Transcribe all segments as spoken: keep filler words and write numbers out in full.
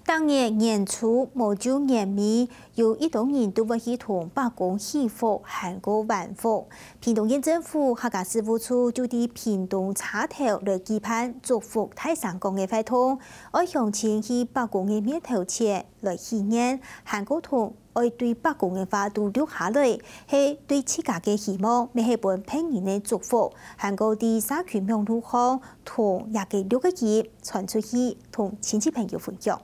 逐年年初，無就年尾，有一兜人都會去同伯公祈福還過還福。屏東縣政府客家事務處就在屏東車頭來舉辦祝福大聲公个活動，愛鄉親去伯公个面頭前來許願，還過同愛對伯公个話都錄下來，係對自家个希望，乜係分別人个祝福，還過在社區網路項同這个錄个音傳出去，同親戚朋友分享。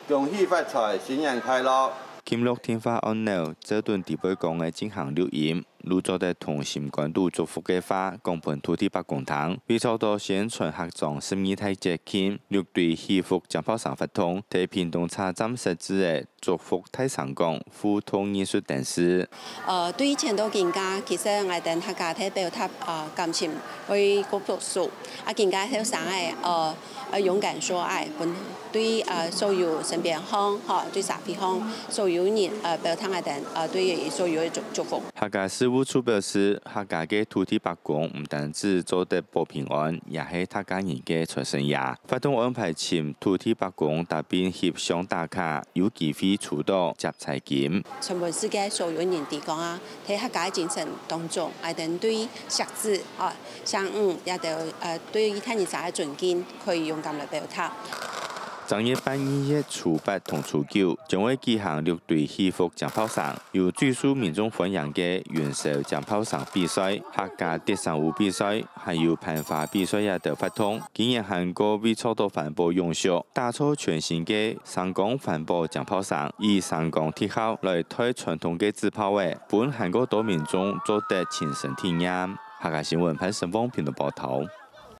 恭喜發財，新年快樂！撳落電話按鈕，照等底背講个進行錄音，就做得同心肝肚祝福个話講分土地伯公聽。為著到宣傳客庄十二大節慶，六堆祈福尖炮聲活動，在屏東車站設置个祝福大聲公互動藝術展示。呃，對前到今下，其實𠊎等客家在表達，呃，感情會過特殊。啊，今下後生个，呃，呃，勇敢說愛，分對，呃，所有身邊項，吼，對社會項，所有人，呃，表達𠊎等，呃，對所有个祝，祝福。客家事務處表示，客家个土地伯公毋單止做得保平安，也係大家人个財神爺。活動安排尋土地伯公，搭並翕相打卡，有機會抽到接財金。全本世界所有人知講啊，在客家个精神當中，𠊎等對惜子，吼， 相應，也都，呃，對於大人儕个尊敬，可以勇敢來表達。正月八、二月初八同初九，將會舉行六堆祈福尖炮聲，有最受民眾歡迎个雲霄尖炮聲比賽、客家跌聲甪比賽，還有攀花比賽這兜活動。今年還過為著到環保永續，打造全新个聲光環保尖炮聲，以聲光特效來代傳統个紙炮仔，分還過多民眾做得親身體驗。 客家新聞潘成峰屏東報導。